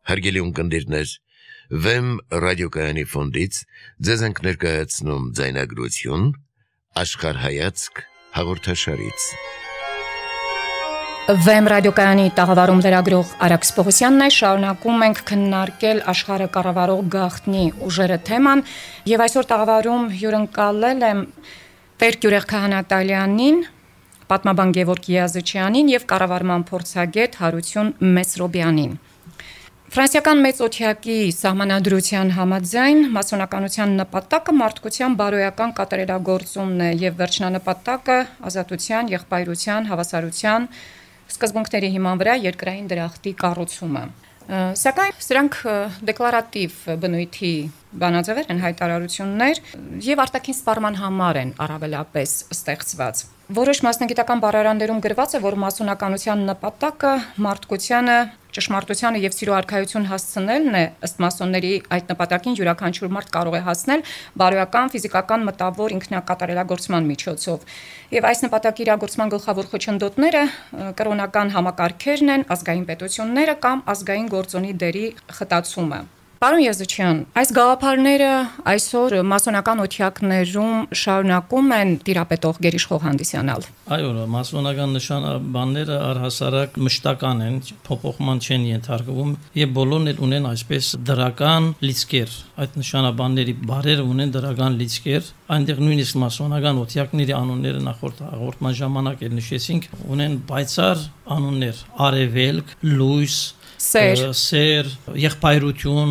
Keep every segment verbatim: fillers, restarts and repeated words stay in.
Հարգելի ունկնդիրներ, Վեմ ռադիոկայանի ֆոնդից ձեզ ենք ներկայացնում ձայնագրություն Աշխարհայացք հաղորդաշարից։ Վեմ ռադիոկայանի տաղավարում լրագրող Արաքս Պողոսյանն է, շարունակում ենք քննարկել աշխարհը կառավարող գաղտնի ուժերը թեման, եւ այսօր տաղավարում հյուրընկալել եմ Տեր Գյուրեղ Քահանատալյանին, պատմաբան Գևորգ Յազычյանին եւ կառավարման փորձագետ Հարություն Մեսրոբյանին։ Ֆրանսիական մեծ օթյակի սահմանադրության համաձայն մասոնականության նպատակը մարդկության բարոյական կատարելագործումն է եւ վերջնանպատակը ազատության, եղբայրության, հավասարության սկզբունքների հիման վրա երկրային դրախտի կառուցումը։ Սակայն սրանք դեկլարատիվ բնույթի բանաձևեր են, հայտարարություններ եւ արտաքին սպառման համար են առավելապես ստեղծված։ Որոշ մասնագիտական բառարաններում գրված է, որ մասոնականության նպատակը մարդկությանը ճշմարտությանը եւ սիրո արքայություն հասցնելն է, ըստ մասոնների այդ նպատակին յուրաքանչյուր մարդ կարող է հասնել բարոյական, ֆիզիկական, մտավոր ինքնակատարելագործման միջոցով։ Եվ այս նպատակի իրագործման գլխավոր խոչընդոտները կրոնական համակարգերն են, ազգային պետությունները կամ ազգային գործոնի դերի խտացումը։ Պարոն Յազычյան, այս գաղափարները այսօր մասոնական օթյակներում շարունակում են տիրապետող գերիշխող հանդիսանալ։ Այո, մասոնական նշանաբանները առհասարակ մշտական են, փոփոխման չեն ենթարկվում եւ բոլորն էլ ունեն այսպես դրական լիցքեր։ Այդ նշանաբանների բարերը ունեն դրական լիցքեր, այնտեղ նույնիսկ մասոնական օթյակների անունները նախորդ հաղորդման ժամանակ էլ նշեցինք, ունեն պայծառ անուններ՝ արևելք, լույս, Սեր, սեր, եղբայրություն,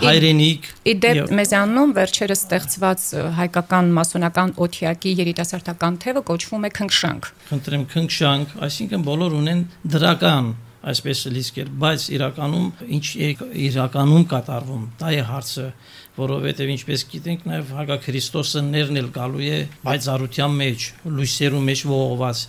հայրենիք։ Իդեպ մեզանում վերջերս ստեղծված հայկական մասոնական օթյակի երիտասարդական թևը կոչվում է Քնքշանք։ Խնդրեմ, Քնքշանք, այսինքն բոլոր ունեն դրական այսպես լիցքեր, բայց իրականում ինչ է իրականում կատարվում, դա է հարցը, որովհետև ինչպես գիտենք, նաև Հակա Քրիստոսը ներնել գալու է բայցարության մեջ, լույսերու մեջ ողողված։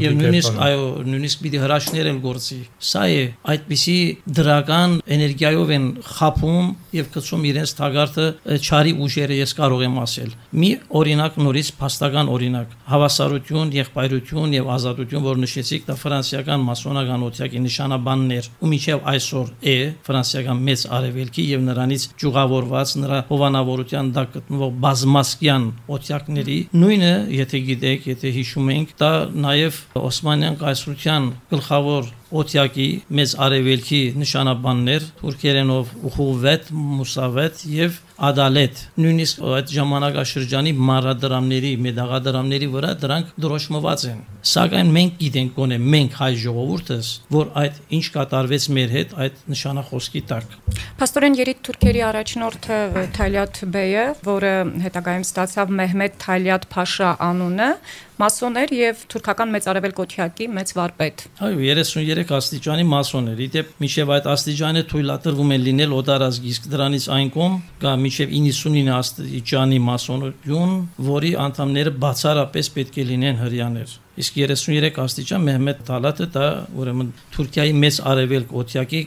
Եվ նույնիսկ այո, նույնիսկ պիտի հրաշքներ էլ գործի։ Սա է այդպիսի դրական էներգիայով են խափում եւ գցում իրենց թագարտը չարի ուժերը, ես կարող եմ ասել։ Մի օրինակ նորից փաստական օրինակ, հավասարություն, եղբայրություն եւ ազատություն, որ նշեցիք, դա ֆրանսիական մասոնական օթյակի նշանաբաններ, ու մինչեւ այսօր է ֆրանսիական մեծ արևելքի եւ նրանից ճյուղավոր նրա հովանավորության դա գտնվող բազմասկյան օթյակների նույնը, եթե գիտեք, եթե հիշում ենք, դա նաև Օսմանյան կայսրության գլխավոր օթյակի մեծ արևելքի նշանաբաններ թուրքերենով Ուխուվետ, Մուսավետ եւ Ադալետ, նույնիսկ այդ ժամանակաշրջանի մանրադրամների, մեդաղադրամների վրա դրանք դրոշմված են։ Սակայն մենք գիտենք գոնե մենք հայ ժողովուրդս, որ այդ ինչ կատարվեց մեր հետ այդ նշանախոսքի տակ։ Փաստորեն երիտ թուրքերի առաջնորդը Թալյատ Բեյը, որը հետագայում ստացավ Մեհմեդ Թալյատ Փաշա անունը, մասոն էր եւ թուրքական մեծ արևելք օթյակի մեծ վարպետ։ Այո, երեսուններեք աստիճանի մասոն էր։ Իդեպ մինչեւ այդ աստիճանը թույլատրվում են լինել օտարազգ, իսկ դրանից այն կողմ կա մինչեւ իննսունինը աստիճանի մասոնություն, որի անդամները բացառապես պետք է լինեն հрьяաներ։ Իսկ երեսուններեք աստիճան Մեհմեդ Թալատը դա ուրեմն Թուրքիայի մեծ արևելք օթյակի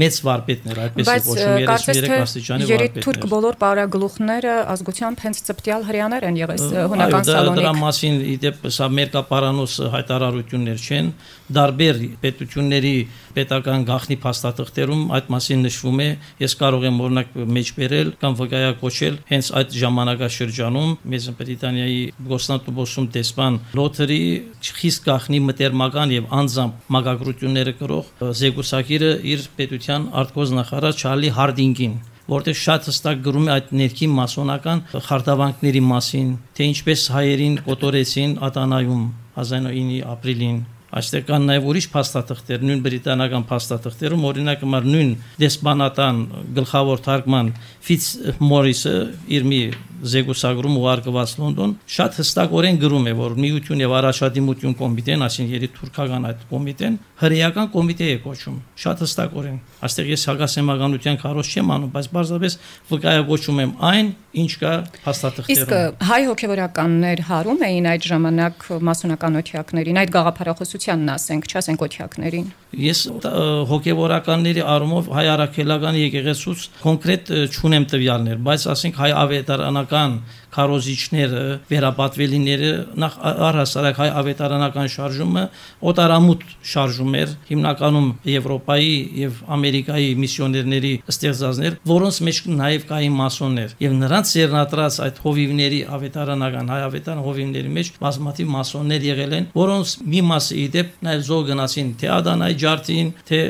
մեծ վարպետն էր, այդպես է կոչվում երեսուններեք աստիճանի վարպետն։ Երեք թուրք բոլոր պարագլուխները ազգությամբ հենց ծպտյալ հрьяաներ են եղել հունական Սալոնիկ։ Դրա մասին իդեպ սա մերկապարանոս հայտարարություններ չեն, դարբեր պետությունների պետական գաղտնի փաստաթղթերում այդ մասին նշվում է, ես կարող եմ օրինակ մեջբերել կամ վկայակոչել հենց այդ ժամանակաշրջանում Մեծ Բրիտանիայի Գոսնատուբոսում դեսպան Լոթերի խիստ գաղտնի մտերմական եւ անձամբ մագագրությունները կրող զեկուսակիրը իր պետության արտգործնախարար Չարլի Հարդինգին, որտեղ շատ հստակ գրում է այդ ներքին մասոնական խարտավանքների մասին, թե ինչպես հայերին կոտորեցին Ատանայում հազար ինը ապրիլին։ Այստեղ կան նաև ուրիշ փաստաթղթեր, նույն բրիտանական փաստաթղթերում, օրինակ համար նույն դեսպանատան գլխավոր թարգման Ֆից Մորիսը իր մի զեկուսագրում ուղարկված Լոնդոն շատ հստակորեն գրում է, որ միություն եւ առաջադիմություն կոմիտեն, այսինքն երի թուրքական այդ կոմիտեն հրեական կոմիտե է կոչում, շատ հստակորեն։ Այստեղ ես հակասեմականության քարոզ չեմ անում, բայց բարձրապես վկայակոչում եմ այն, ինչ կա փաստաթղթերում։ Իսկ հայ հոգևորականներ հարում էին այդ ժամանակ մասոնական օթյակներին, այդ գաղափարախոսությանն ասենք, չասենք օթյակներին։ Ես հոգևորականների առումով հայ առաքելական եկեղեցուց կոնկրետ չունեմ տվյալներ, բայց ասենք հայ ավետարանական քարոզիչները, վերապատվելիները նախ առհասարակ հայ ավետարանական շարժումը օտարամուտ շարժում էր, հիմնականում Եվրոպայի եւ Ամերիկայի միսիոներների ստեղծածներ, որոնց մեջ նաեւ կային մասոններ, եւ նրանց ծերնատրած այդ հովիվների ավետարանական հայ ավետարան հովիվների մեջ բազմաթիվ մասոններ եղել են, որոնց մի մասը իդեպ նաեւ զոհ գնացին թե Ադանայի ջարդին, թե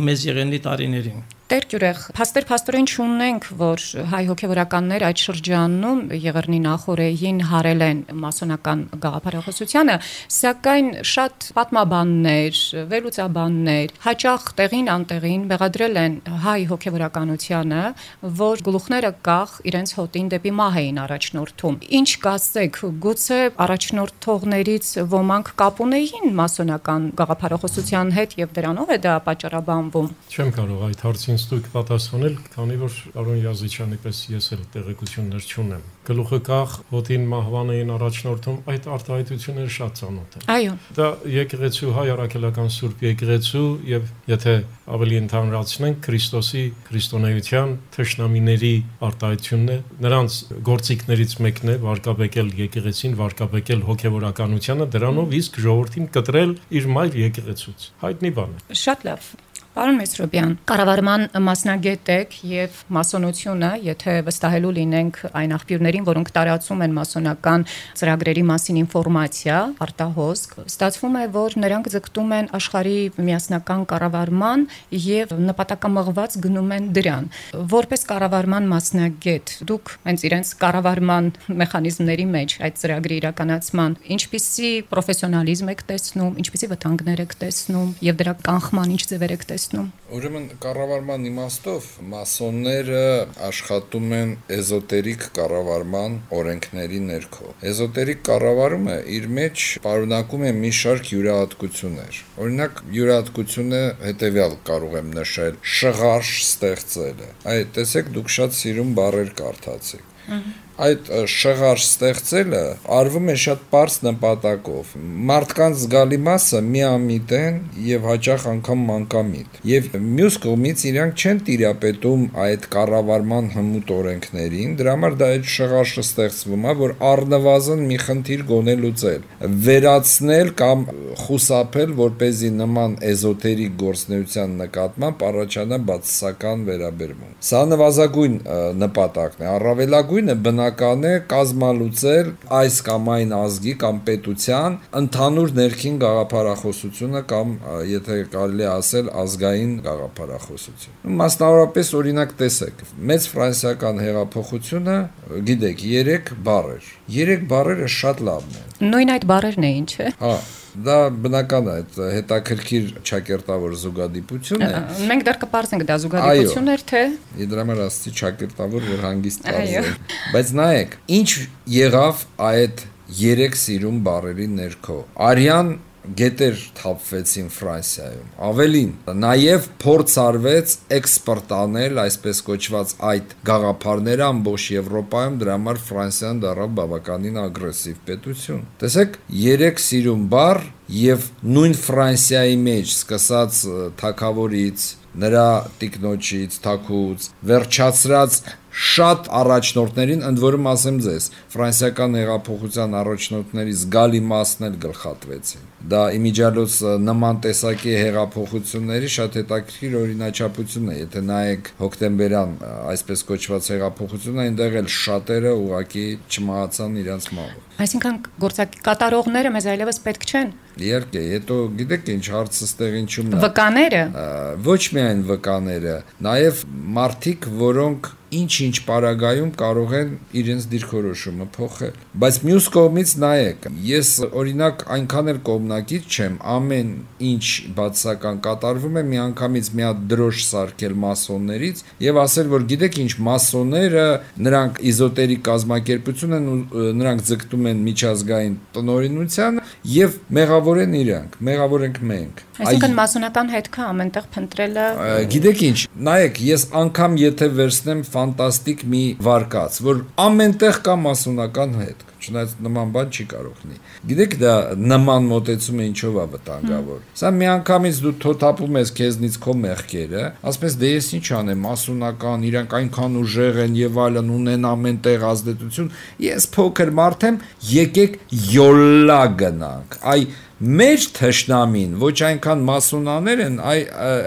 մեծ եղենի տարիներին։ Տեր Գյուրեղ, փաստեր փաստորեն չունենք, որ հայ հոգևորականներ այդ շրջանում Եղեռնի նախօրեին հարել են մասոնական գաղափարախոսությանը, սակայն շատ պատմաբաններ, վերլուծաբաններ հաճախ տեղին անտեղին մեղադրել են հայ հոգևորականությանը, որ գլուխները կախ իրենց հոտին դեպի մահ էին առաջնորդում։ Ինչ կասեք, գուցե առաջնորդողներից ոմանք կապ ունեին մասոնական գաղափարախոսության հետ եւ դրանով է դա պատճառաբանվում։ Չեմ կարող այդ հարցին ստույգ պատասխանել, քանի որ Արոն Յազիչյանի պես ես էլ տեղեկություններ չունեմ։ Գլուխը կախ, հոտին մահվան էին առաջնորդում, այդ արտահայտությունները շատ ծանոթ են։ Այո։ Դա եկեղեցու հայ առաքելական Սուրբ եկեղեցու եւ եթե ավելի ընդհանրացնենք Քրիստոսի քրիստոնեության թշնամիների արտահայտությունն է, նրանց գործիքներից մեկն է վարկաբեկել եկեղեցին, վարկաբեկել հոգևորականությանը, դրանով իսկ ժողովրդին կտրել իր մայր եկեղեցուց։ Հայտնի բան է։ Շատ լավ։ Պարոն Մեսրոպյան, կառավարման մասնագետ եք եւ մասոնությունը, եթե վստահելու լինենք այն աղբյուրներին, որոնք տարածում են մասոնական ծրագրերի մասին ինֆորմացիա, արտահոսք, ստացվում է, որ նրանք ձգտում են աշխարհի միասնական կառավարման եւ նպատակամղված գնում են դրան։ Որպես կառավարման մասնագետ, դուք հենց իրենց կառավարման մեխանիզմների մեջ այդ ծրագրի իրականացման ինչպիսի պրոֆեսիոնալիզմ եք տեսնում, ինչպիսի վտանգներ եք տեսնում եւ դրա կանխման ինչ ձևեր եք տեսնում։ Ուրեմն կառավարման իմաստով մասոնները աշխատում են էզոտերիկ կառավարման օրենքների ներքո։ Էզոտերիկ կառավարումը իր մեջ պարունակում է մի շարք յուրահատկություններ։ Օրինակ, յուրահատկությունը հետևյալ կարող եմ նշել՝ շղարշ ստեղծելը։ Այդ տեսեք, դուք շատ սիրուն բառեր կարդացիք։ Այդ շղարշ ստեղծելը արվում է շատ պարզ նպատակով։ Մարդկանց զգալի մասը միամիտ են եւ հաճախ անգամ մանկամիտ։ Եվ մյուս կողմից իրանք չեն տիրապետում այդ կառավարման հմուտ օրենքներին, դրա համար դա այդ շղարշը ստեղծվում է, որ առնվազն մի խնդիր գոնե լուծել, վերացնել կամ խուսափել, որպեսզի նման էզոտերիկ գործունեության նկատմամբ առաջանա բացասական վերաբերմունք։ Սա նվազագույն նպատակն է, առավելագույնը բնական է կազմալուծել այս կամ այն ազգի կամ պետության ընդհանուր ներքին գաղափարախոսությունը կամ եթե կարելի է ասել ազգային գաղափարախոսություն։ Մասնավորապես օրինակ տեսեք, մեծ ֆրանսիական հեղափոխությունը, գիտեք, երեք բառեր։ Երեք բառերը շատ լավն են։ Նույն այդ բառերն էին, չէ՞։ Հա, դա բնական է, այդ հետաքրքիր ճակերտավոր զուգադիպություն է։ Մենք դեռ կպարզենք դա զուգադիպություն էր, թե։ Իդրա համար ասացի ճակերտավոր, որ հանգիստ պարզել։ Բայց նայեք, ինչ եղավ այդ երեք սիրուն բառերի ներքո։ Արյան գետեր թափվեցին Ֆրանսիայում։ Ավելին, նաև փորձ արվեց էքսպորտ անել այսպես կոչված այդ գաղափարները ամբողջ Եվրոպայում, դրա համար Ֆրանսիան դառավ բավականին ագրեսիվ պետություն։ Տեսեք, երեք սիրուն բառ եւ նույն Ֆրանսիայի մեջ սկսած թագավորից, նրա տիկնոջից, թագուց, վերջացրած շատ առաջնորդներին, ընդ որում ասեմ ձեզ, ֆրանսիական հեղափոխության առաջնորդների զգալի մասն էլ գլխատվեցին։ Դա իմիջիալոց նման տեսակի հեղափոխությունների շատ հետաքրքիր օրինաչափություն է, եթե նայեք հոկտեմբերյան այսպես կոչված հեղափոխությունը, այնտեղ էլ շատերը ուղղակի չմահացան իրենց մահով։ Այսինքն գործակի կատարողները մեզ այլևս պետք չեն։ Իհարկե, հետո գիտեք ինչ հարցը ստեղին չումն է։ Վկաները։ Ոչ միայն վկաները, նաև մարդիկ, որոնք ինչ-ինչ պարագայում կարող են իրենց դիրքորոշումը փոխել։ Բայց մյուս կողմից նայեք, ես օրինակ այնքան էլ կողմնակից չեմ, ամեն ինչ բացասական կատարվում է, միանգամից մի հատ դրոշ սարքել մասոններից եւ ասել, որ գիտեք ինչ, մասոնները նրանք իզոտերիկ կազմակերպություն են ու նրանք ձգտում են միջազգային տնօրինությանը եւ մեղավոր են իրանք, մեղավոր ենք մենք։ Այսինքն մասոնական հետքը ամենտեղ փնտրելը։ Գիտեք ինչ, նայեք, ես անգամ եթե վերցնեմ ֆանտաստիկ մի վարկած, որ ամենտեղ կա մասոնական հետք, չնայած նման բան չի կարող լինի։ Գիտեք, դա նման մոտեցումը ինչով է վտանգավոր։ Սա միանգամից դու թոթափում ես քեզնից քո մեղքերը, ասես դե ես ինչ անեմ, մասոնական, իրանք այնքան ուժեղ են եւ այլն, ունեն ամենտեղ ազդեցություն, ես փոքր մարդ եմ, եկեք յոլլա գնանք։ Այ մեր թշնամին ոչ այնքան մասոնաներ են, այ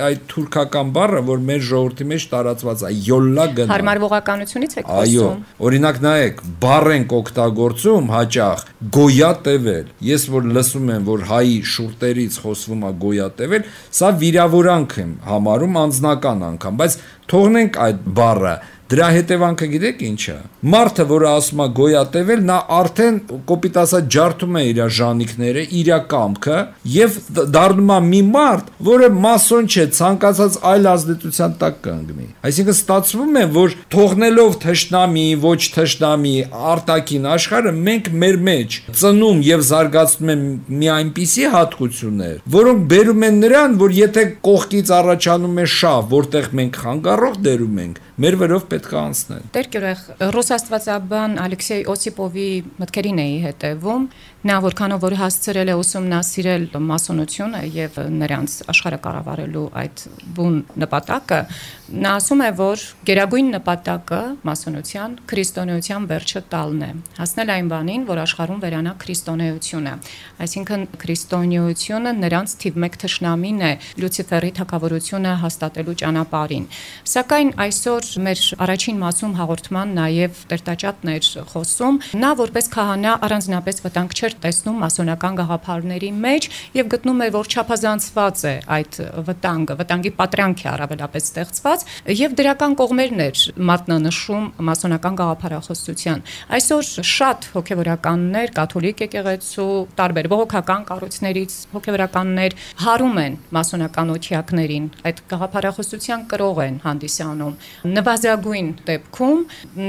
այդ թուրքական բառը, որ մեր ժողովրդի մեջ տարածված է, յոլլա գնանք։ Հարմարվողականությունից եք խոսում։ Այո, օրինակ նայեք, բառ ենք օգտագործում հաճախ գոյատևել։ Ես որ լսում եմ, որ հայի շուրտերից խոսվում է գոյատևել, սա վիրավորանք եմ համարում անձնական անգամ, բայց թողնենք այդ բառը։ Դրա հետևանքը գիտեք ինչ է։ Մարդը, որը ասում է գոյատևել, նա արդեն կոպիտ ասած ջարդում է իր ժանիքները, իր կամքը եւ դառնում է մի մարդ, որը մասոն չէ, ցանկացած այլ ազդեցության տակ կանգնի։ Այսինքն ստացվում է, որ թողնելով թշնամի, ոչ թշնամի, արտաքին աշխարհը մենք մեր մեջ ծնում եւ զարգացնում են մի այնպիսի հատկություններ, որոնք բերում են նրան, որ եթե կողքից առաջանում է շավ, որտեղ մենք խանգարող դերում ենք, մեր վրով պետք է անցնել։ Տեր Գյուրեղ, ռուս աստվածաբան Ալեքսեյ Օսիպովի մտքերին էի հետևում, նա որքանով որ հասցրել է ուսումնասիրել մասոնությունը եւ նրանց աշխարհը կառավարելու այդ բուն նպատակը, նա ասում է, որ գերագույն նպատակը մասոնության քրիստոնեության վերջը տալն է, հասնել այն բանին, որ աշխարհում վերանա քրիստոնեությունը, այսինքն քրիստոնեությունը նրանց թիվ մեկ թշնամին է Լյուցիֆերի թագավորությունը հաստատելու ճանապարհին։ Սակայն այսօր մեր առաջին մասում հաղորդման նաև Տերտաճատն էր խոսում, նա որպես քահանա առանձնապես վտանգ չէր տեսնում մասոնական գաղափարների մեջ եւ գտնում էր, որ չափազանցված է այդ վտանգը, վտանգի պատրանք է առավելապես ստեղծված եւ դրական կողմերն էր մատնանշում մասոնական գաղափարախոսության։ Այսօր շատ հոգեվորականներ, կաթոլիկ եկեղեցու, տարբեր բողոքական կառույցներից հոգեվորականներ հարում են մասոնական օթյակներին, այդ գաղափարախոսության կրող են հանդիսանում։ Նվազագույն դեպքում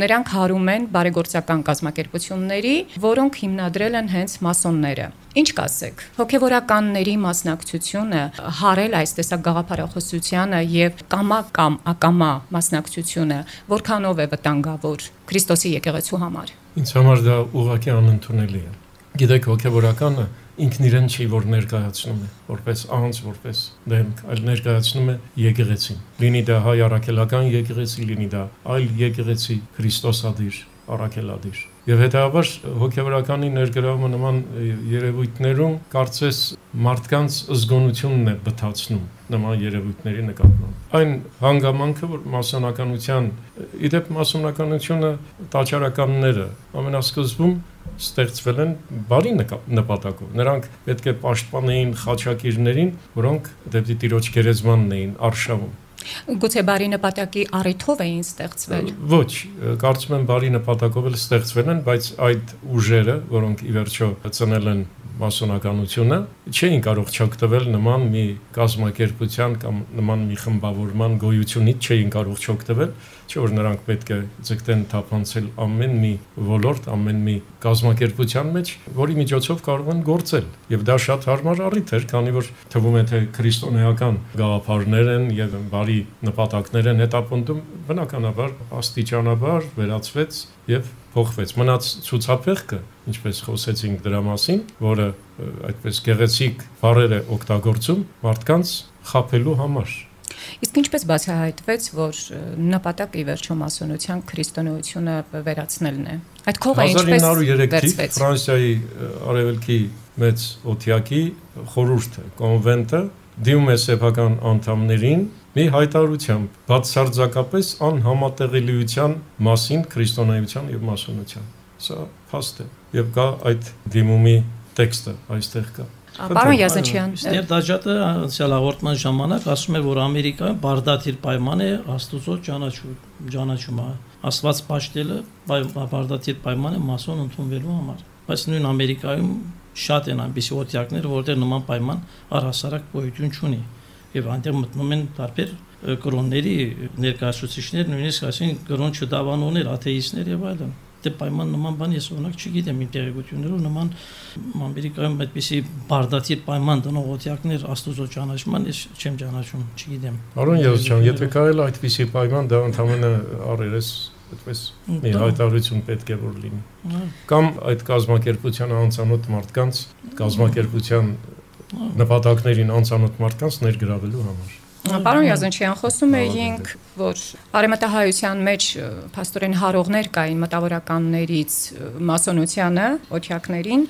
նրանք հարում են բարեգործական կազմակերպությունների, որոնք հիմնադրել են հենց մասոնները։ Ինչ կասեք, հոգևորականների մասնակցությունը հարել այս տեսակ գաղափարախոսությանը եւ կամա կամ ակամա մասնակցությունը որքանով է վտանգավոր Քրիստոսի եկեղեցու համար։ Ինձ համար դա ուղղակի անընդունելի է։ Գիտեք, հոգևորականը ինքն իրեն չի, որ ներկայացնում է որպես անձ, որպես դեմք, այլ ներկայացնում է եկեղեցին։ Լինի դա հայ առաքելական եկեղեցի, լինի դա այլ եկեղեցի, Քրիստոսադիր, առաքելադիր։ Եվ հետևաբար հոգևորականի ներգրավումը նման երևույթներում կարծես մարդկանց զգոնությունն է բթացնում նման երևույթների նկատմամբ։ Այն հանգամանքը, որ մասոնականության, իդեպ մասոնականությունը տաճարականները ամենասկզբում ստեղծվել են բարի նպատակով։ Նրանք պետք է պաշտպանեին խաչակիրներին, որոնք դեպի Տիրոջ գերեզմանն էին արշավում։ Գուցե բարի նպատակի առիթով էին ստեղծվել։ Ոչ, կարծում եմ բարի նպատակով էլ ստեղծվել են, բայց այդ ուժերը, որոնք ի վերջո ծնել են մասոնականությունը, չէին կարող չօգտվել նման մի կազմակերպության կամ նման մի խմբավորման գոյությունից չէին կարող չօգտվել, չէ որ նրանք պետք է ձգտեն թափանցել ամեն մի ոլորտ, ամեն մի կազմակերպության մեջ, որի միջոցով կարող են գործել։ Եվ դա շատ հարմար առիթ էր, քանի որ թվում է թե քրիստոնեական գաղափարներ են եւ բարի նպատակներ են հետապնդում, բնականաբար աստիճանաբար վերածվեց եւ փոխվեց։ Մնաց ցուցափեղկը, ինչպես խոսեցինք դրա մասին, որը այդպես գեղեցիկ բառեր է օգտագործում մարդկանց խաբելու համար։ Իսկ ինչպես բացահայտվեց, որ նպատակը ի վերջո մասոնության քրիստոնեությունը վերացնելն է։ Այդ քողը ինչպես վերցվեց։ Ֆրանսիայի արևելքի մեծ օթյակի խորհուրդը, կոնվենտը դիմում է սեփական անդամներին մի հայտարարությամբ բացարձակապես անհամատեղելիության մասին քրիստոնեության եւ մասոնության։ Սա փաստ է եւ կա այդ դիմումի տեքստը այստեղ կա։ Պարոն Յազնչյան, Տերտաճատը անցյալ հաղորդման ժամանակ ասում է, որ Ամերիկայում բարդաթիր պայման է Աստուծո ճանաչումը։ Աստված պաշտելը բարդաթիր պայման է մասոն ընդունվելու համար։ Բայց նույն Ամերիկայում շատ են այնպիսի օթյակներ, որտեղ նման պայման առհասարակ գոյություն չունի։ Եվ այնտեղ մտնում են տարբեր կրոնների ներկայացուցիչներ, նույնիսկ ասին կրոն չդավանողներ, աթեիստներ եւ այլն։ Դե պայման նման բան ես օրինակ չգիտեմ իմ տեղեկություններով նման Ամերիկայում այդպիսի բարդաթիր պայման դնող օթյակներ Աստուծո ճանաչման ես չեմ ճանաչում, չգիտեմ։ Արոն Յազնչյան, եթե կարել այդպիսի պայման դա ընդհանրապես առերես այդպես մի հայտարարություն պետք է որ լինի։ Կամ այդ կազմակերպության անծանոթ մարդկանց կազմակերպության նպատակներին անծանոթ մարդկանց ներգրավելու համար։ Պարոն Յազնչյան, խոսում էինք, որ արևմտահայության մեջ փաստորեն հարողներ կային մտավորականներից մասոնությանը, օթյակներին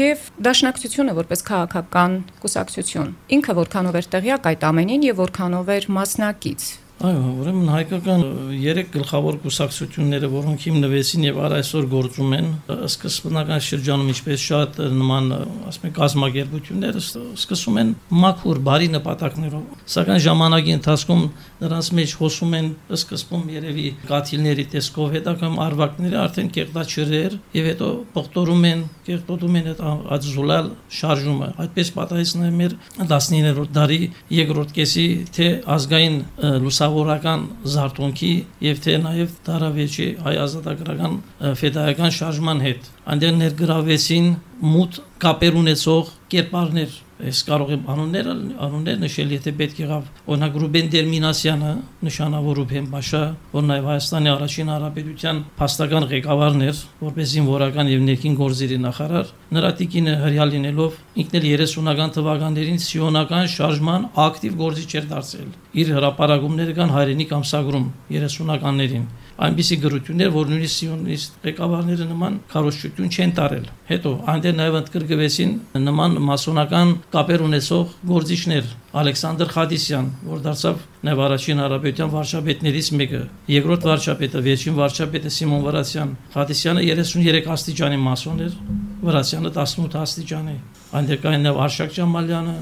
եւ դաշնակցությունը որպես քաղաքական կուսակցություն։ Ինքը որքանով էր տեղյակ այդ ամենին եւ որքանով էր մասնակից։ Այո, ուրեմն հայկական երեք գլխավոր կուսակցությունները, որոնք հիմնվեցին եւ առ այսօր գործում են, սկզբնական շրջանում ինչպես շատ նման, ասում ենք, կազմակերպությունները սկսում են մաքուր, բարի նպատակներով, սակայն ժամանակի ընթացքում նրանց մեջ հոսում են սկզբում երևի կաթիլների տեսքով հետագայում արվակները արդեն կեղտաչրեր եւ հետո պղտորում են, կեղտոտում են այդ ածուլալ շարժումը։ Այդպես պատահեցնում է մեր տասնիններորդ դարի երկրորդ կեսի թե ազգային լուսավորական զարթոնքի եւ թե նաեւ դարավերջի հայ ազատագրական ֆեդայական շարժման հետ այնտեղ ներգրավեցին մութ կապեր ունեցող կերպարներ։ Ես կարող եմ անունները անուններ նշել, եթե պետք եղավ, օրինակ Ռուբեն Դերմինասյանը, նշանավոր Ռուբեն Փաշա, որ նաև Հայաստանի առաջին հանրապետության փաստական ղեկավարն էր, որպես զինվորական եւ ներքին գործերի նախարար, նրա տիկինը հրյա լինելով ինքն էլ երեսունական թվականներին սիոնական շարժման ակտիվ գործիչ էր դարձել։ Իր հրապարակումները կան հայրենիք ամսագրում երեսունականներին։ Այնպիսի գրություններ, որ նույնիսկ սիոնիստ ղեկավարները նման քարոզչություն չեն տարել։ Հետո այնտեղ նաև ընդգրկվեցին նման մասոնական կապեր ունեցող գործիչներ, Ալեքսանդր Խադիսյան, որ դարձավ նաև առաջին հանրապետության վարչապետներից մեկը, երկրորդ վարչապետը, վերջին վարչապետը Սիմոն Վրացյան։ Խադիսյանը երեսունյերեք աստիճանի մասոն էր, Վրացյանը տասնութ աստիճանի։ Այնտեղ կային նաև Արշակ Ջամալյանը,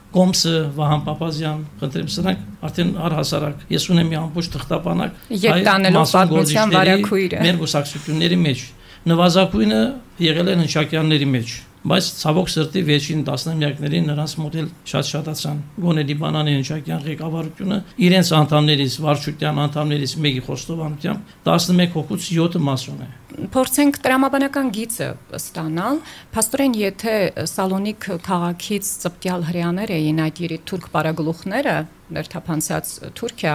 Կոմսը, Վահան Պապազյան, խնդրեմ սրանք արդեն առհասարակ ես ունեմ մի ամբողջ թղթապանակ եւ տանելով պատմության վարակույրը մեր գուսակցությունների մեջ նվազագույնը եղել են հնչակյանների մեջ, բայց ցավոք սրտի վերջին տասնամյակներին նրանց մոդել շատ շատացան։ Գոնե Լիբանանի հնչակյան ղեկավարությունը իրենց անդամներից, վարչության անդամներից մեկի խոստովանությամբ տասնմեկ հոգուց յոթը մասոն է։ Փորձենք տրամաբանական գիծը ստանալ, փաստորեն եթե Սալոնիկ քաղաքից ծպտյալ հрьяաներ էին այդ երեք թուրք պարագլուխները, ներթափանցած Թուրքիա,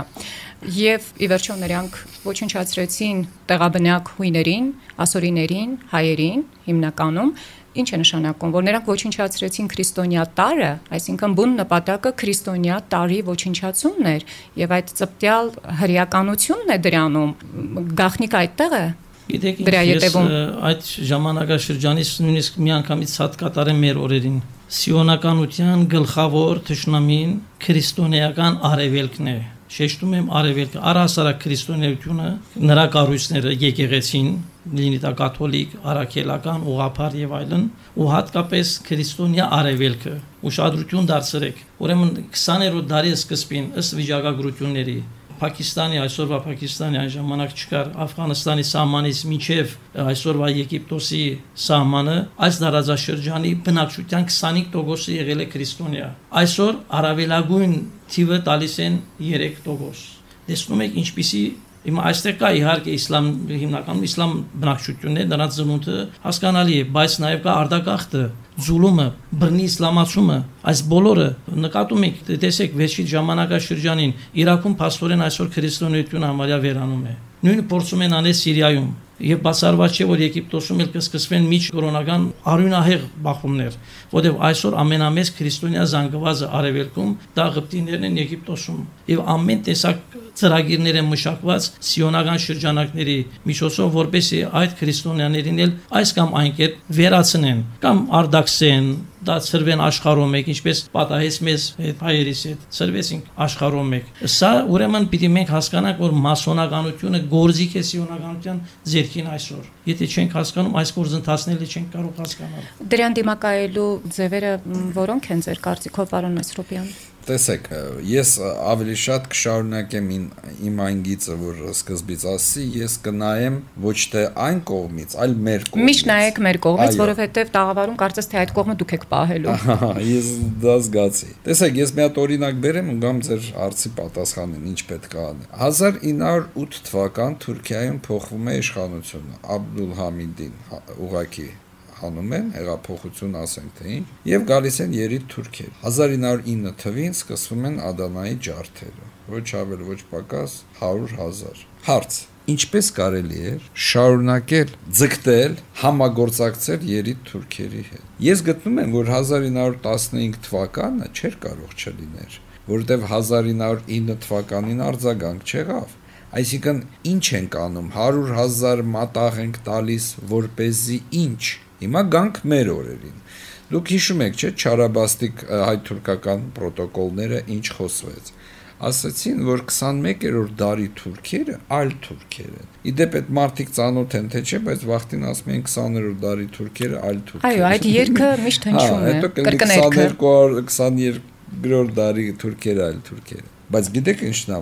եւ ի վերջո նրանք ոչնչացրեցին տեղաբնակ հույներին, ասորիներին, հայերին հիմնականում, ինչ է նշանակում, որ նրանք ոչնչացրեցին քրիստոնյա տարը, այսինքն բուն նպատակը քրիստոնյա տարի ոչնչացումն էր, եւ այդ ծպտյալ հրեականությունն է դրանում, գաղտնիք այդտեղ է։ Գիտեք, ես այդ ժամանակաշրջանից նույնիսկ մի անգամից հատ կատարեմ մեր օրերին։ Սիոնականության գլխավոր թշնամին քրիստոնեական արևելքն է։ Շեշտում եմ արևելքը, առհասարակ քրիստոնեությունը, նրա կառույցները եկեղեցին, լինի դա կաթոլիկ, արաքելական, ուղղափառ եւ այլն, ու հատկապես քրիստոնյա արևելքը։ Ուշադրություն դարձրեք։ Ուրեմն քսաներորդ դարի սկզբին ըստ վիճակագրությունների Պակիստանի, այսօրվա Պակիստանի այն ժամանակ չկար, Աֆղանստանի սահմանից մինչև այսօրվա Եգիպտոսի սահմանը, այս դարաձաշրջանի բնակչության քսանհինգ տոկոսը եղել է քրիստոնյա։ Այսօր առավելագույն թիվը տալիս են երեք տոկոս։ Տեսնում եք ինչպիսի Հիմա այստեղ կա իհարկե իսլամ հիմնականում իսլամ բնակչությունն է, նրանց ծնունդը հասկանալի է, բայց նաև կա արտագաղթը, զուլումը, բռնի իսլամացումը, այս բոլորը նկատում եք, տեսեք վերջի ժամանակաշրջանին Իրաքում փաստորեն այսօր քրիստոնեությունը համարյա վերանում է։ Նույնը փորձում են անել Սիրիայում եւ բացառված չէ որ Եգիպտոսում էլ կսկսվեն միջ կորոնական արյունահեղ բախումներ, որտեղ այսօր ամենամեծ քրիստոնյա զանգվածը արևելքում դա Եգիպտիներն են Եգիպտոսում եւ ամեն տեսակ ծրագիրներ են մշակված սիոնական շրջանակների միջոցով, որպեսզի այդ քրիստոնյաներին էլ այս կամ այն կերպ վերացնեն կամ արդակսեն, դա ծրվեն աշխարհում մեկ, ինչպես պատահեց մեզ հետ հայերիս հետ, ծրվեցինք աշխարհում մեկ։ Սա ուրեմն պիտի մենք հասկանանք, որ մասոնականությունը գործիք է սիոնականության ձեռքին այսօր։ Եթե չենք հասկանում, այս գործընթացները չենք կարող հասկանալ։ Դրան դիմակայելու ձևերը որոնք են ձեր կարծիքով, պարոն Մեսրոպյան։ Տեսեք, ես ավելի շատ կշարունակեմ իմ այն գիծը, որ սկզբից ասի, ես կնայեմ ոչ թե այն կողմից, այլ մեր կողմից։ Միշտ նայեք մեր կողմից, որովհետև տաղավարում կարծես թե այդ կողմը դուք եք պահելու։ Ես դա զգացի։ Տեսեք, ես մի հատ օրինակ բերեմ ու գամ ձեր հարցի պատասխանեմ, ինչ պետք է անել։ հազար ինը հարյուր ութ թվական Թուրքիայում փոխվում է իշխանությունը, Աբդուլհամիդին ուղղակի հանում են, հեղափոխություն ասենք թե ինչ, եւ գալիս են երիտ թուրքեր։ հազար ինը հարյուր ինը թվին սկսվում են Ադանայի ջարդերը, ոչ ավել ոչ պակաս հարյուր հազար։ Հարց. ինչպես կարելի էր շարունակել ձգտել համագործակցել երիտ թուրքերի հետ։ Ես գտնում եմ, որ հազար ինը հարյուր տասնհինգ թվականը չէր կարող չլիներ, որովհետև հազար ինը հարյուր ինը թվականին արձագանք չեղավ։ Այսինքն ինչ ենք անում, հարյուր հազար մատաղ ենք տալիս, որպեսզի ինչ։ Հիմա գանք մեր օրերին։ Դուք հիշում եք, չէ՞, չարաբաստիկ հայ-թուրքական պրոտոկոլները ինչ խոսվեց։ Ասացին, որ քսանմեկերորդ դարի թուրքերը այլ թուրքեր են։ Իդեպ այդ մարդիկ ծանոթ են, թե չէ, բայց վախտին ասում են քսաներորդ դարի թուրքերը այլ թուրքեր։ Այո, այդ երգը միշտ հնչում է, կրկներգը։ քսաներկու դարի թուրքերը այլ թուրքեր։ Բայց գիտեք ինչն է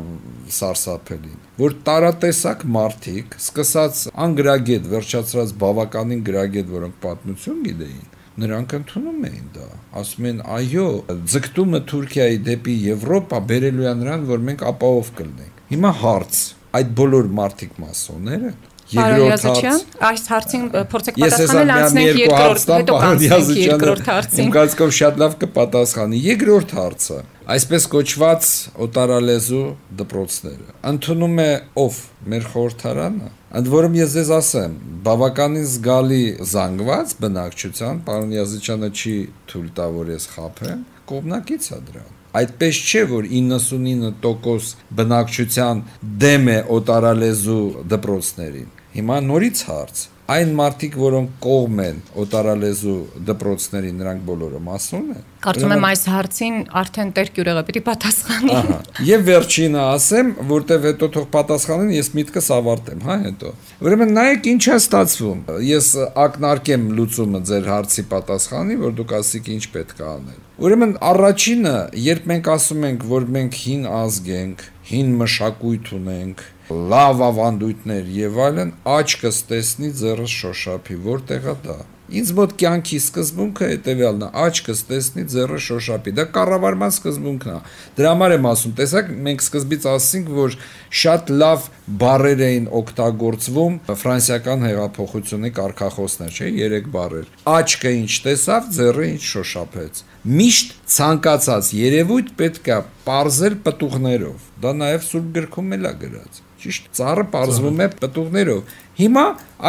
սարսափելին, որ տարատեսակ մարդիկ, սկսած անգրագետ, վերջացրած բավականին գրագետ, որոնք պատմություն գիտեին, նրանք ընդունում էին դա, ասում են այո, ձգտումը Թուրքիայի դեպի Եվրոպա բերելու է նրան, որ մենք ապահով կլինենք։ Հիմա հարց, այդ բոլոր մարդիկ մասոններ են։ Երկրորդ հարց, այս հարցին փորձեք պատասխանել, անցնենք երկրորդ, հետո կանցնենք երկրորդ հարցին։ Իմ կարծիքով շատ լավ կպատասխանի։ Երկրորդ հարցը, այսպես կոչված օտարալեզու դպրոցները։ Ընդունում է ով մեր խորհրդարանը։ Ընդ որում ես ձեզ ասեմ, բավականին զգալի զանգված բնակչության, պարոն Յազիչյանը չի թույլ տա, որ ես խաբեմ, կողմնակից է դրան։ Այդպես չէ, որ իննսունինը տոկոս բնակչության դեմ է օտարալեզու դպրոցներին։ Հիմա նորից հարց, այն մարդիկ, որոնք կողմ են օտարալեզու դպրոցների, նրանք բոլորը մասոն են։ Կարծում եմ այս հարցին արդեն Տեր Գյուրեղը պիտի պատասխանի։ Ահա։ Եվ վերջինը ասեմ, որտեվ հետո թող պատասխանեն, ես միտքս ավարտեմ, հա, հետո։ Ուրեմն նայեք ինչ է ստացվում։ Ես ակնարկեմ լուծումը ձեր հարցի պատասխանի, որ դուք ասիք ինչ պետք է անել։ Ուրեմն առաջինը, երբ մենք ասում ենք, որ մենք հին ազգ ենք, հին մշակույթ ունենք, լավ ավանդույթներ եւ այլն, աչքս տեսնի, ձեռս շոշափի, որտեղ է դա։ Ինձ մոտ կյանքի սկզբունքը հետեւյալն է, աչքս տեսնի, ձեռս շոշափի։ Դա կառավարման սկզբունքն է։ Դրա համար եմ ասում, տեսակ, մենք սկզբից ասացինք, որ շատ լավ բառեր էին օգտագործվում ֆրանսիական հեղափոխությունի կարգախոսներ, չէ՞, երեք բառեր։ Աչքը ինչ տեսավ, ձեռը ինչ շոշափեց։ Միշտ ցանկացած երևույթ պետք է պարզել պտուղներով։ Դա նաև Սուրբ գրքում էլ է գրած։ Ճիշտ, ծառը պարզվում է պտուղներով։ Հիմա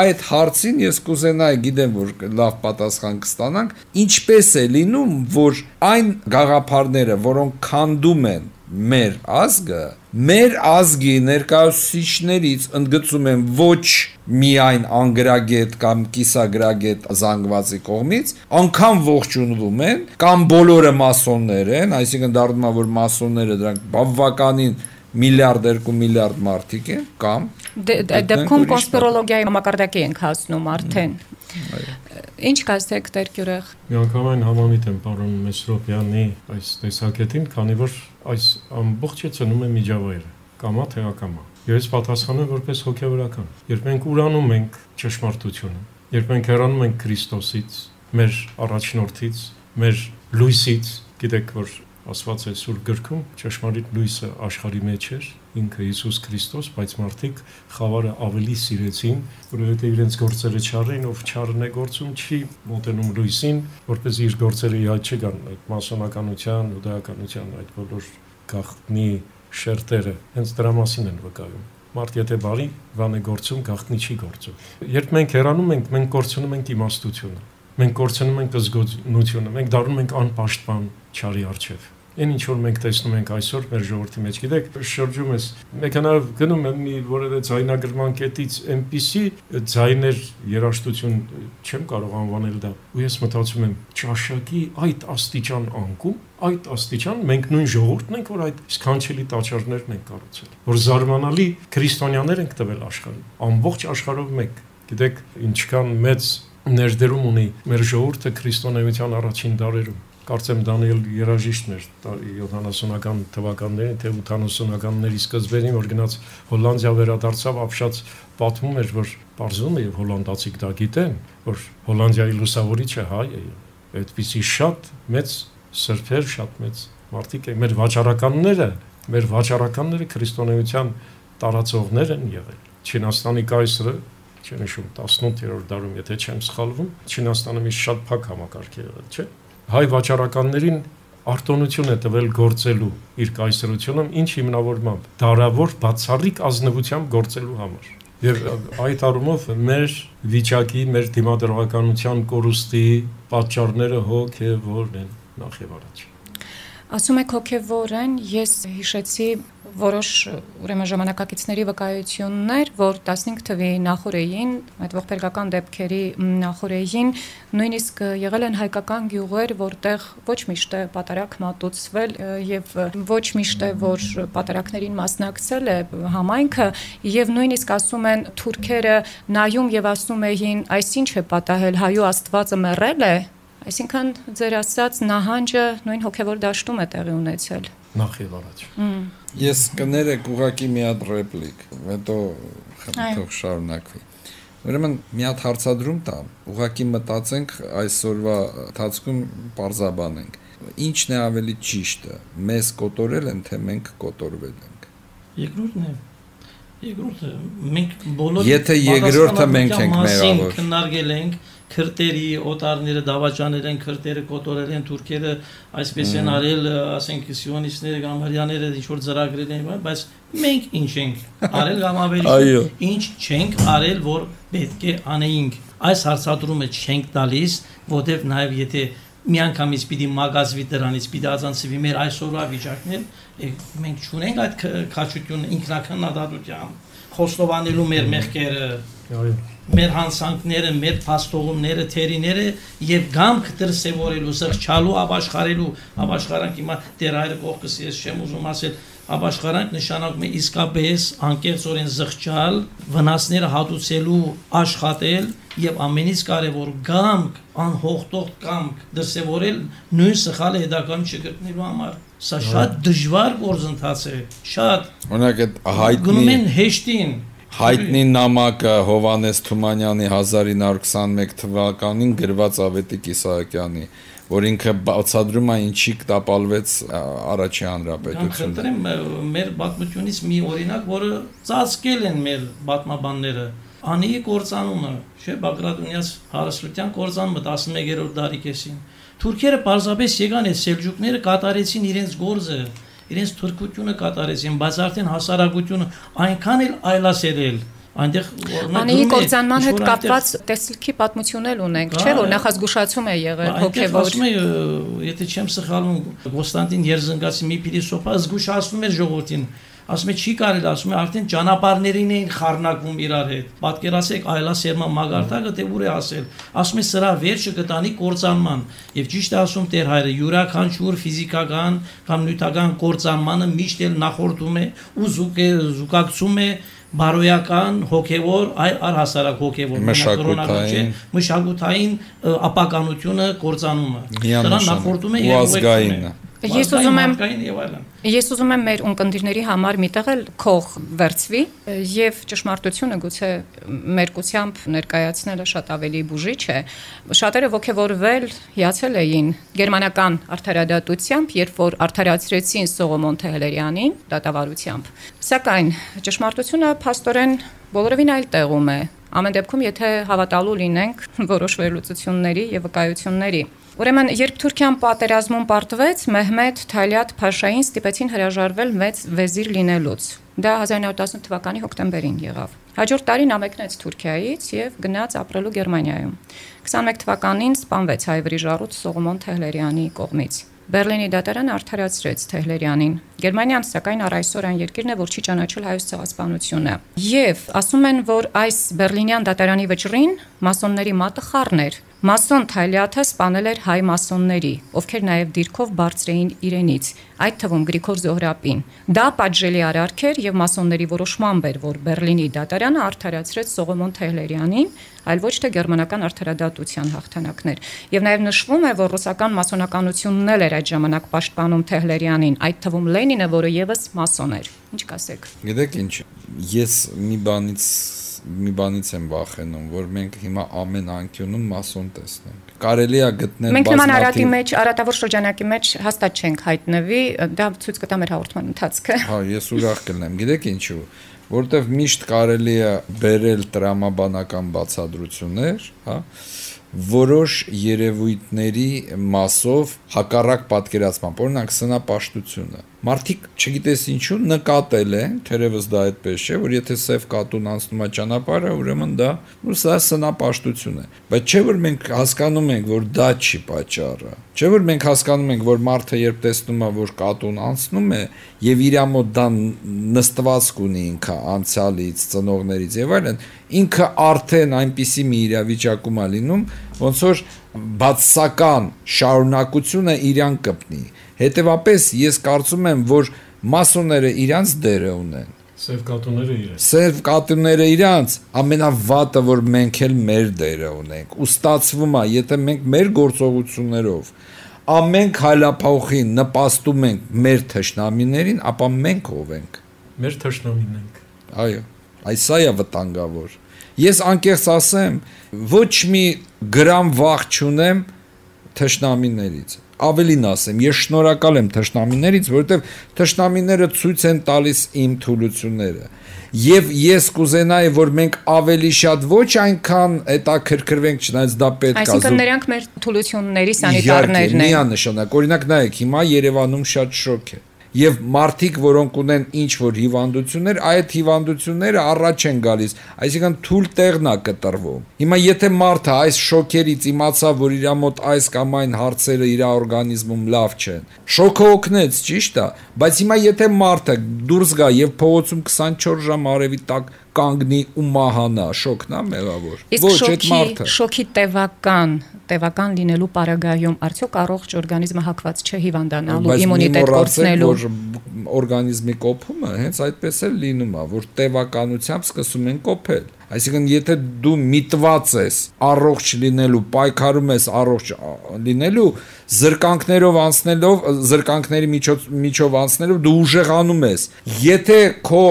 այդ հարցին ես կուզենայի, գիտեմ, որ լավ պատասխան կստանանք, ինչպես է լինում, որ այն գաղափարները, որոնք քանդում են մեր ազգը, մեր ազգի ներկայացուցիչներից ընդգծում են ոչ միայն անգրագետ կամ կիսագրագետ զանգվածի կողմից, անգամ ողջունվում են, կամ բոլորը մասոններ են, այսինքն դառնում է, որ մասոնները դրանք բավականին միլիարդ երկու միլիարդ մարդիկ են, կամ դեպքում կոնսպիրոլոգիայի մակարդակի ենք հասնում արդեն։ Ինչ կասեք, Տեր Գյուրեղ։ Միանգամայն համամիտ եմ պարոն Մեսրոպյանի այս տեսակետին, քանի որ այս ամբողջը ծնում է միջավայրը, կամա թե ակամա։ Ես պատասխանում եմ որպես հոգևորական։ Երբ մենք ուրանում ենք ճշմարտությունը, երբ մենք հեռանում ենք Քրիստոսից, մեր առաջնորդից, մեր լույսից, գիտեք, որ ասված է Սուրբ գրքում, ճշմարիտ լույսը աշխարհի մեջ էր, ինքը Հիսուս Քրիստոս, բայց մարդիկ խավարը ավելի սիրեցին, որովհետև իրենց գործերը չարին, ով չարն է գործում, չի մոտենում լույսին, որպես իր գործերը իհաց չգան, այդ մասոնականության, ուդայականության այդ բոլոր գաղտնի շերտերը, հենց դրա մասին են վկայում։ Մարդ եթե բարի բան է գործում, գաղտնի չի գործում։ Երբ մենք հեռանում ենք, մենք կորցնում ենք իմաստությունը, մենք կորցնում ենք զգոնությունը, մենք դառնում ենք անպաշտպան չարի առջև։ Այն ինչ որ մենք տեսնում ենք այսօր մեր ժողովրդի մեջ, գիտեք, շրջում ես, մեքանավ գնում եմ մի որևէ ձայնագրման կետից այնպիսի ձայներ երաժշտություն չեմ կարող անվանել դա։ Ու ես մտածում եմ, ճաշակի այդ աստիճան անկում, այդ աստիճան մենք նույն ժողովուրդն ենք, որ այդ սքանչելի տաճարներն ենք կառուցել, որ զարմանալի քրիստոնյաներ ենք տվել աշխարհին, ամբողջ աշխարհով մեկ։ Գիտեք, ինչքան մեծ ներդրում ունի մեր ժողովուրդը քրիստոնեության առաջին դարերում։ Կարծեմ Դանիել երաժիշտն էր յոթանասունական թվականներին, թե ութանասունականների սկզբերին, որ գնաց Հոլանդիա վերադարձավ, ապշած պատմում էր, որ պարզվում է եւ հոլանդացիք դա գիտեն, որ Հոլանդիայի լուսավորիչը հայ է։ Այդպիսի շատ մեծ սրբեր, շատ մեծ մարդիկ են, մեր վաճառականները, մեր վաճառականները քրիստոնեության տարածողներ են եղել։ Չինաստանի կայսրը, չեմ հիշում, տասնութերորդ դարում, եթե չեմ սխալվում, Չինաստանը մի շատ փակ համակարգ է եղել, չէ՞։ Հայ վաճառականներին արտոնություն է տվել գործելու իր կայսրությունում, ինչ հիմնավորմամբ դարավոր բացառիկ ազնվությամբ գործելու համար։ Եվ այդ առումով մեր վիճակի, մեր դիմադրողականության կորուստի պատճառները հոգևոր են նախ եւ առաջ։ Ասում եք հոգևոր են, ես հիշեցի որոշ ուրեմն ժամանակակիցների վկայություններ, որ տասնհինգ թվի նախորդին, այդ ողբերգական դեպքերի նախորդին նույնիսկ եղել են հայկական գյուղեր, որտեղ ոչ միշտ է պատարակ մատուցվել եւ ոչ միշտ է որ պատարակներին մասնակցել է համայնքը եւ նույնիսկ ասում են թուրքերը նայում եւ ասում էին, այսինչ է պատահել, հայու Աստվածը մեռել է, այսինքն ձեր ասած նահանջը նույն հոգևոր դաշտում է տեղի ունեցել։ Նախ եւ առաջ։ Ես կներեք ուղակի մի հատ ռեպլիկ, հետո թող շարունակվի։ Ուրեմն մի հատ հարցադրում տամ, ուղակի մտածենք այսօրվա ընթացքում պարզաբանենք։ Ինչն է ավելի ճիշտը, մեզ կոտորել են, թե մենք կոտորվել ենք։ Երկրորդն է։ Երկրորդը մենք բոլոր Եթե երկրորդը մենք ենք մեղավոր քննարկել ենք քրտերի օտարները դավաճանել են, քրտերը կոտորել են, թուրքերը այսպես են արել, ասենք սիոնիստները, գամարյաները ինչ որ ծրագրել են, բայց մենք ինչ ենք արել կամ ավելի ինչ չենք արել, որ պետք է անեինք։ Այս հարցադրումը չենք տալիս, որտեղ նաև եթե միանգամից պիտի մագազվի դրանից, պիտի ածանցվի մեր այսօրվա վիճակն, մենք չունենք այդ քաջությունը ինքնակնադատությամբ, խոստովանելու մեր մեղքերը, մեր հանցանքները, մեր փաստողումները, թերիները եւ գամք դրսեւորելու, զղջալու, ապաշխարելու, ապաշխարանք հիմա դեր այլ կողքս ես չեմ ուզում ասել, ապաշխարանք նշանակում է իսկապես անկեղծորեն զղջալ, վնասները հատուցելու, աշխատել եւ ամենից կարեւոր գամք, անհողտող գամք դրսեւորել նույն սխալը հետագայում չգտնելու համար։ Սա շատ դժվար գործընթաց է, շատ։ Օրինակ այդ հայտնի գնում են հեշտին Հայտնի նամակը Հովանես Թումանյանի հազար ինը հարյուր քսանմեկ թվականին գրված Ավետիք Իսահակյանի, որ ինքը բացադրում է ինչի տապալվեց առաջի հանրապետությունը։ Խնդրեմ մեր պատմությունից մի օրինակ, որը ծածկել են մեր պատմաբանները, Անիի կործանումը, չէ, Բագրատունյաց հարստության կործանումը տասնմեկերորդ դարի կեսին։ Թուրքերը պարզապես եկան այդ սելջուկները կատարեցին իրենց գործը, իրենց թուրքությունը կատարեցին, բայց արդեն հասարակությունը այնքան էլ այլասերել, այնտեղ Անիի կործանման հետ կապված տեսլքի պատմություն էլ ունենք, չէ, որ նախազգուշացում է եղել հոգևոր։ Ասում է, եթե չեմ սխալվում, Կոնստանտին Երզնգացի մի փիլիսոփա զգուշացնում էր ժողովրդին, ասում է չի կարելի, ասում է արդեն ճանապարհներին էին խառնակվում իրար հետ։ Պատկերացեք այլասերման մագարտակը թե ուր է ասել։ Ասում է սրա վերջը կտանի կործանման։ Եվ ճիշտ է ասում Տեր հայրը, յուրաքանչյուր ֆիզիկական կամ նյութական կործանմանը միշտ էլ նախորդում է ու զուկ է զուգակցում է բարոյական, հոգևոր, այլ առհասարակ հոգևոր, մշակութային, մշակութային ապականությունը կործանումը։ Դրան նախորդում է եւ ազգային։ Ես ուզում եմ Ես ուզում եմ մեր ունկնդիրների համար միտեղ էլ քող վերցվի եւ ճշմարտությունը գուցե մերկությամբ ներկայացնելը շատ ավելի բուժիչ է։ Շատերը ողջորվել հիացել էին գերմանական արդարադատությամբ, երբ որ արդարացրեցին Սողոմոն Թեհլերյանին դատավարությամբ։ Սակայն ճշմարտությունը փաստորեն բոլորովին այլ տեղում է։ Ամեն դեպքում, եթե հավատալու լինենք որոշ վերլուծությունների եւ վկայությունների։ Ուրեմն, երբ Թուրքիան պատերազմում պարտվեց, Մեհմեդ Թալիաթ Փաշային ստիպեցին հրաժարվել մեծ վեզիր լինելուց։ Դա հազար ինը հարյուր տասնութ թվականի հոկտեմբերին եղավ։ Հաջորդ տարին ամեկնեց Թուրքիայից եւ գնաց ապրելու Գերմանիայում։ քսանմեկ թվականին սպանվեց հայ վրիժառուց Սողոմոն Թեհլերյանի կողմից։ Բերլինի դատարանը արդարացրեց Թեհլերյանին։ Գերմանիան սակայն առ այսօր այն երկիրն է, որ չի ճանաչել հայոց ցեղասպանությունը։ Եվ ասում են, որ այս բերլինյան դատարանի վճռին մասոնների մատը խառն էր։ Մասոն Թալիաթը սպանել էր հայ մասոնների, ովքեր նաև դիրքով բարձրեին իրենից, այդ թվում Գրիգոր Զոհրաբին։ Դա պատժելի արարք էր եւ մասոնների որոշմամբ էր, որ Բերլինի դատարանը արդարացրեց Սողոմոն Թեհլերյանին, այլ ոչ թե գերմանական արդարադատության հաղթանակներ։ Եվ նաև նշվում է, որ ռուսական մասոնականությունն էլ էր այդ ժամանակ պաշտպանում Թեհլերյանին, այդ թվում Լենինը, որը եւս մասոն էր։ Ինչ կասեք։ Գիտեք ինչ, ես մի բանից մի բանից եմ վախենում, որ մենք հիմա ամեն անկյունում մասոն տեսնենք։ Կարելի է գտնել Մենք նման արատի մեջ, արատավոր շրջանակի մեջ հաստատ չենք հայտնվի, դա ցույց կտա մեր հաղորդման ընթացքը։ Հա, ես ուրախ կլինեմ։ Գիտեք ինչու, որտեվ միշտ կարելի է բերել տրամաբանական բացատրություններ, հա, որոշ երևույթների մասով հակառակ պատկերացման, օրինակ սնապաշտությունը։ Մարդիկ չգիտես ինչու նկատել են, թերևս դա այդպես չէ, որ եթե սև կատուն անցնում է ճանապարհը, ուրեմն դա սա սնապաշտություն է։ Բայց չէ որ մենք հասկանում ենք, որ դա չի պատճառը։ Չէ որ մենք հասկանում ենք, որ մարդը երբ տեսնում է, որ կատուն անցնում է, եւ իր մոտ դա նստվածք ունի ինքը անցյալից, ծնողներից եւ այլն, ինքը արդեն այնպիսի մի իրավիճակում է լինում, ոնց որ բացասական շարունակությունը իրան կպնի։ Հետևաբար ես կարծում եմ, որ մասոնները իրանց դերը ունեն։ Սև կատուները իրանց։ Սև կատուները իրանց, ամենավատը, որ մենք էլ մեր դերը ունենք։ Ու ստացվում է, եթե մենք մեր գործողություններով ամեն քայլափոխին նպաստում ենք մեր թշնամիներին, ապա մենք ով ենք։ Մեր թշնամին ենք։ Այո, այսա է վտանգավոր։ Ես անկեղծ ասեմ, ոչ մի գրամ վախ չունեմ թշնամիներից։ Ավելին ասեմ, ես շնորհակալ եմ թշնամիներից, որովհետև թշնամիները ցույց են տալիս իմ թուլությունները։ Եվ ես կուզենայի, որ մենք ավելի շատ ոչ այնքան հետաքրքրվենք, չնայած դա պետք է։ Այսինքն նրանք մեր թուլությունների սանիտարներն են։ Միանշանակ, օրինակ նայեք, հիմա Երևանում շատ շոկ է։ Եվ մարդիկ, որոնք ունեն ինչ-որ հիվանդություններ, այդ հիվանդությունները առաջ են գալիս, այսինքն թույլ տեղն է կտրվում։ Հիմա եթե մարդը այս շոկերից իմացավ, որ իր մոտ այս կամ այն հարցերը իր օրգանիզմում լավ չեն, շոկը օգնեց, ճիշտ է, բայց հիմա եթե մարդը դուրս գա եւ փողոցում քսանչորս ժամ արևի տակ կանգնի ու մահանա, շոկն է մեղավոր։ Ոչ, այդ մարդը շոկի տևական, տևական լինելու պարագայում արդյոք առողջ օրգանիզմը հակված չէ հիվանդանալու, իմունիտետ կորցնելու։ Օրգանիզմի կոփումը հենց այդպես էլ լինում է, որ տևականությամբ սկսում են կոփել։ Այսինքն եթե դու միտված ես առողջ լինելու, պայքարում ես առողջ լինելու, զրկանքներով անցնելով, զրկանքների միջով միջով անցնելով դու ուժեղանում ես։ Եթե քո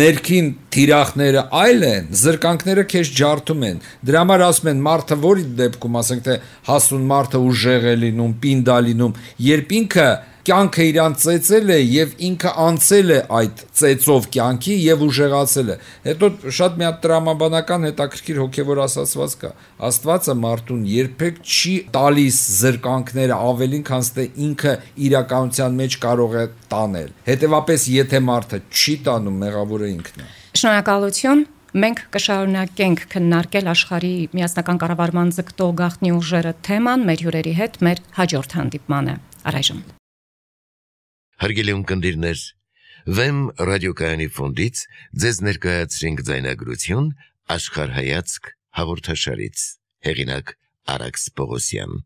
ներքին թիրախները այլ են, զրկանքները քեզ ջարդում են։ Դրա համար ասում են մարդը որի դեպքում, ասենք թե հասուն մարդը ուժեղ է լինում, պինդ է լինում, երբ ինքը կյանքը իրան ծեծել է եւ ինքը անցել է այդ ծեծով կյանքի եւ ուժեղացել է։ Հետո շատ մի հատ տրամաբանական հետաքրքիր հոգեվոր ասացված կա։ Աստվածը մարդուն երբեք չի տալիս զրկանքները ավելին, քան թե ինքը իրականության մեջ կարող է տանել։ Հետևաբար եթե մարդը չի տանում, մեղավորը ինքն է։ Շնորհակալություն։ Մենք կշարունակենք քննարկել աշխարհի միասնական կառավարման ձգտող գաղտնի ուժերը թեման մեր հյուրերի հետ մեր հաջորդ հանդիպմանը։ Առայժմ Հարգելի ունկնդիրներ, Վեմ ռադիոկայանի ֆոնդից ձեզ ներկայացրինք ձայնագրություն աշխարհայացք հաղորդաշարից։ Հեղինակ Արաքս Պողոսյան։